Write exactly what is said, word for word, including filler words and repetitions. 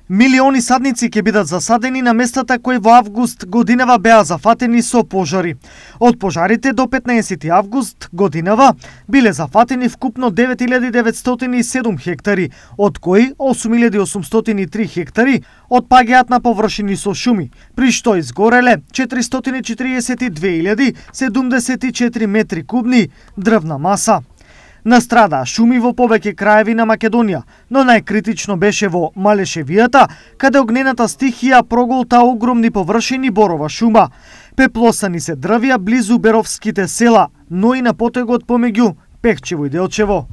Милиони садници ќе бидат засадени на местата кои во август годинава беа зафатени со пожари. Од пожарите до петнаесети август годинава биле зафатени вкупно девет илјади деветстотини и седум хектари, од кои осум илјади осумстотини и три хектари отпаѓаат на површини со шуми, при што изгореле четиристотини и четириесет и две илјади седумдесет и четири метри кубни дрвна маса. Настрада шуми во повеќе краеви на Македонија, но најкритично беше во Малешевијата, каде огнената стихија проголта огромни површини борова шума. Пеплосани се дрвја близу Беровските села, но и на потегот помеѓу Пехчево и Делчево.